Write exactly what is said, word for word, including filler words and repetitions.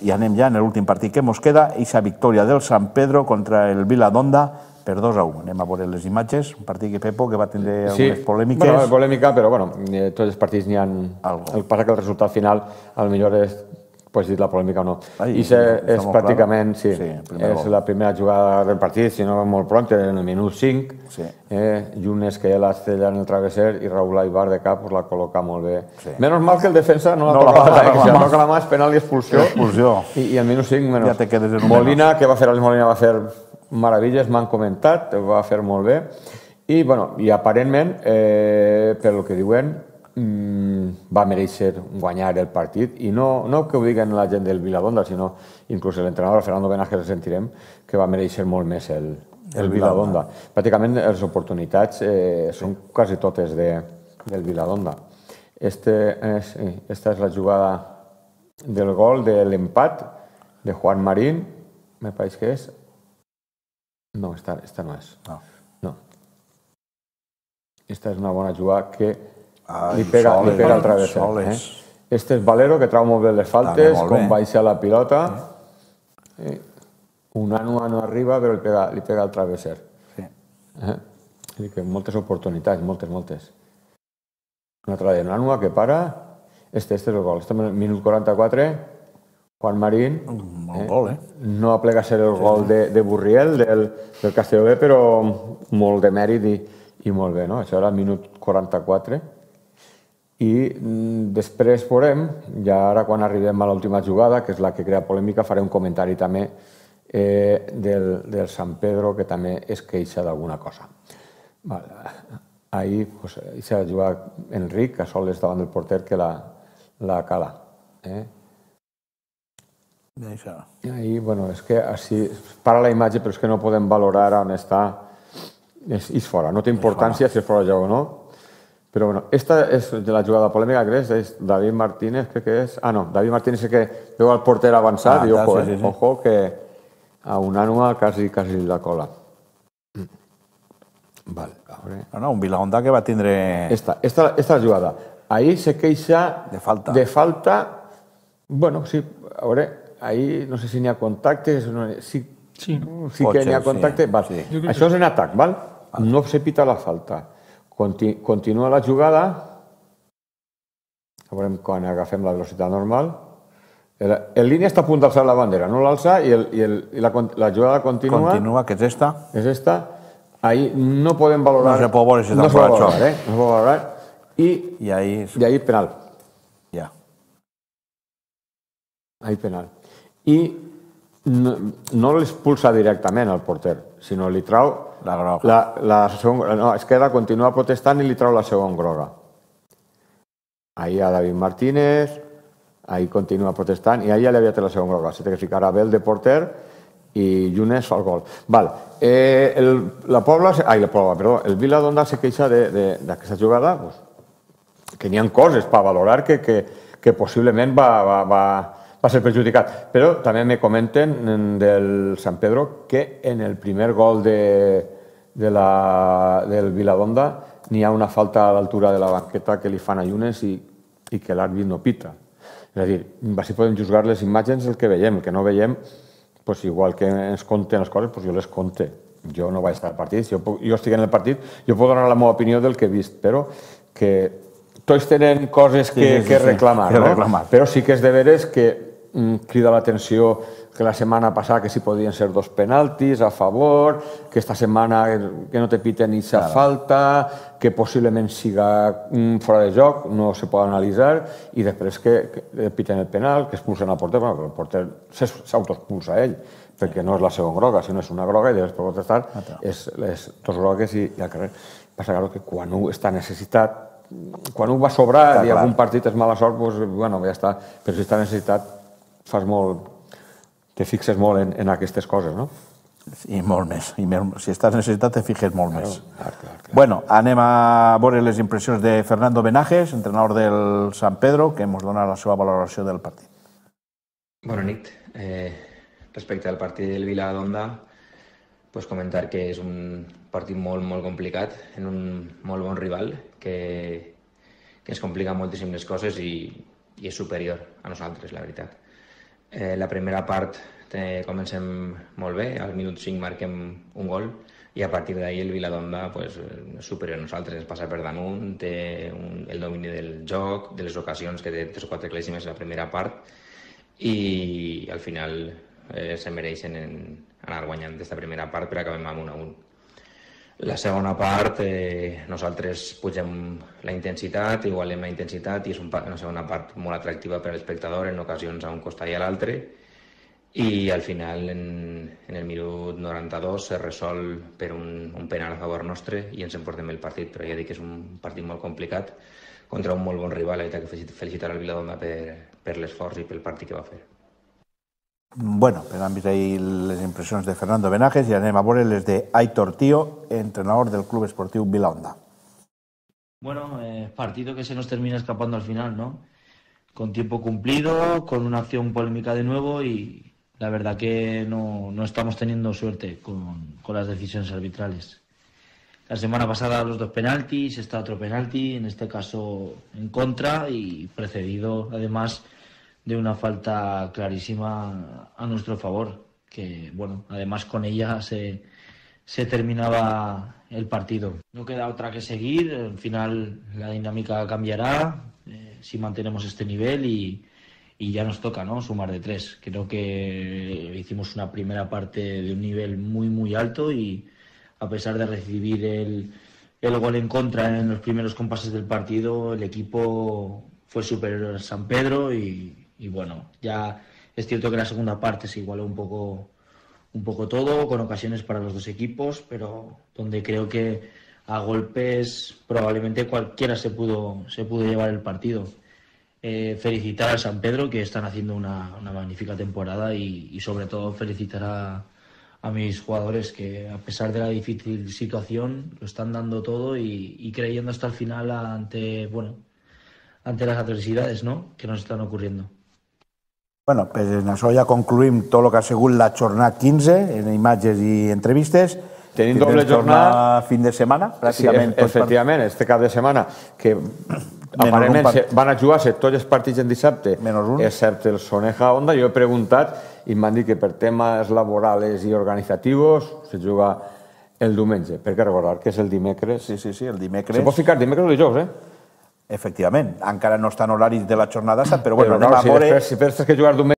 I anem ja en l'últim partit que ens queda, aquesta victòria del Sant Pedro contra el Viladonda per dos a u. Anem a veure les imatges, un partit que Pepo que va tindre algunes polèmiques. Sí, bueno, polèmica, però bueno, tots els partits n'hi ha... El que passa que el resultat final, al millor és, pots dir la polèmica o no. I és pràcticament, sí, és la primera jugada del partit, si no molt pront, en el minut cinc. Llunes que ja l'estrella en el travesser i Raúl Aibar de cap la col·loca molt bé. Menys mal que el defensa no la toca la mà, que si la toca la mà és penal i expulsió. I al minut cinc, menys. Molina, que va fer Alex Molina, va fer meravilles, m'han comentat, ho va fer molt bé. I, bueno, i aparentment, pel que diuen, va mereixer guanyar el partit. I no que ho diguen la gent del Viladonda, sinó inclús l'entrenador Fernando Benajes el sentirem, que va mereixer molt més el Viladonda. Pràcticament les oportunitats són quasi totes del Viladonda. Esta és la jugada del gol de l'empat de Juan Marín, me pareix que és. No, esta no és. No. Esta és una bona jugada que li pega al travesser. Este és Valero, que trau molt bé les faltes, com baixa la pilota. Una no arriba, però li pega al travesser. Moltes oportunitats, moltes, moltes. Una altra de Nanua que para. Este és el gol. Este és el minut quaranta-quatre. Juan Marín. No aplega a ser el gol de Burriel, del Castelló B, però molt de mèrit i molt bé. Això era el minut quaranta-quatre. I després veurem, ja ara quan arribem a l'última jugada, que és la que crea polèmica, faré un comentari també del Sant Pedro, que també es queixa d'alguna cosa. Ahir s'ha jugat Enric, a soles davant del porter, que la cala. Ahir, bueno, és que així para la imatge, però és que no podem valorar on està. És fora, no té importància si és fora de joc o no. Però bueno, esta és la jugada polèmica, crec, és David Martínez, crec que és... Ah, no, David Martínez és que veu el porter avançat i ojo, eh, ojo, que a Unanua quasi, quasi la cola. Vale, a veure... No, no, un Viladonda que va tindre... Esta, esta és la jugada. Ahir se queixa... De falta. De falta... Bueno, sí, a veure, ahir no sé si n'hi ha contacte, sí que n'hi ha contacte. Això és en atac, val? No se pita la falta. Continua la jugada. A veure quan agafem la velocitat normal. En línia està a punt d'alçar la bandera, no l'alça i la jugada continua. Continua, que és esta. És esta. Ahir no podem valorar... No se pot veure si està fora de joc. No se pot valorar. I ahir penal. Ja. Ahir penal. I no l'expulsa directament al porter, sinó li trau... La groga. No, és que ara continua protestant i li trau la segona groga. Ahir a David Martínez, ahir continua protestant i ahir ja li havia tret la segona groga. Se té que ficar a Bel de porter i Llunes fa el gol. Val. La Pobla... Ai, la Pobla, perdó. El Viladonda se queixa d'aquesta jugada, que n'hi ha coses per valorar que possiblement va... va ser perjudicat. Però també me comenten del Sant Pedro que en el primer gol del Viladonda n'hi ha una falta a l'altura de la banqueta que li fan a Llunes i que l'àrbit no pita. És a dir, així podem juzgar les imatges el que veiem. El que no veiem, igual que ens conten les coses, jo les conte. Jo no vaig estar al partit. Si jo estic en el partit, jo puc donar la meva opinió del que he vist, però que tots tenen coses que reclamar, però sí que és de veres que crida l'atenció que la setmana passada que s'hi podien ser dos penaltis a favor, que esta setmana que no te piten ni sa falta, que possiblement siga fora de joc, no se pot analitzar, i després que piten el penal, que expulsen al porter, però el porter s'autoexpulsa ell, perquè no és la segona groga, sinó és una groga i després pot estar les dos grogues i al carrer. Passa que quan un està necessitat, quan un va sobrar i algun partit és mala sort, doncs, bueno, ja està, però si està necessitat fas molt, te fixes molt en aquestes coses, no? I molt més. Si estàs necessitat, te fixes molt més. Bueno, anem a veure les impressions de Fernando Benajes, entrenador del Sant Pedro, que ens dona la seva valoració del partit. Bona nit. Respecte al partit del Viladonda, comentar que és un partit molt, molt complicat, en un molt bon rival, que ens complica moltíssim les coses i és superior a nosaltres, la veritat. Eh, la primera part eh, comencem molt bé, al minut cinc marquem un gol i a partir d'ahir el Viladonda pues, és superior a nosaltres, ens passa per damunt, té un, el domini del joc, de les ocasions que té tres o quatre claríssimes en la primera part i al final eh, se mereixen en anar guanyant aquesta primera part però acabem amb un a un. La segona part, eh, nosaltres pugem la intensitat, igualem la intensitat i és un, una segona part molt atractiva per a l'espectador, en ocasions a un costat i a l'altre. I al final, en, en el minut noranta-dos, se resol per un, un penal a favor nostre i ens emportem el partit. Però ja dic que és un partit molt complicat contra un molt bon rival. He de felicitar al Viladonda per, per l'esforç i pel partit que va fer. Bueno, pues han visto ahí las impresiones de Fernando Benajes y anem a veure les de Aitor Tío, entrenador del Club Esportiu Viladonda. Bueno, eh, partido que se nos termina escapando al final, ¿no? Con tiempo cumplido, con una acción polémica de nuevo y la verdad que no, no estamos teniendo suerte con, con las decisiones arbitrales. La semana pasada los dos penaltis, está otro penalti, en este caso en contra y precedido además de una falta clarísima a nuestro favor, que bueno, además con ella se, se terminaba el partido. No queda otra que seguir, al final la dinámica cambiará eh, si mantenemos este nivel y, y ya nos toca, ¿no?, sumar de tres. Creo que hicimos una primera parte de un nivel muy muy alto y a pesar de recibir el, el gol en contra en los primeros compases del partido, el equipo fue superior al San Pedro y Y bueno, ya es cierto que en la segunda parte se igualó un poco, un poco todo, con ocasiones para los dos equipos, pero donde creo que a golpes probablemente cualquiera se pudo, se pudo llevar el partido. Eh, felicitar al San Pedro, que están haciendo una, una magnífica temporada y, y sobre todo felicitar a, a mis jugadores que a pesar de la difícil situación lo están dando todo y, y creyendo hasta el final ante, bueno, ante las adversidades, ¿no?, que nos están ocurriendo. Bueno, pues en això ja concluïm tot el que ha sigut la jornada quinze, en imatges i entrevistes. Tenim doble jornada... Fin de setmana, pràcticament. Sí, efectivament, per... este cap de setmana, que aparentment part... van a jugar-se tots els partits en dissabte, excepte el Soneja Onda. Jo he preguntat i m'han dit que per temes laborals i organitzatius se juga el diumenge. Per què recordar que és el dimecres? Sí, sí, sí, el dimecres. Se pot ficar dimecres o dijous, eh? Efectivament, encara no estan horaris de la jornada, però bueno, anem a veure... Si després que jugar diumenge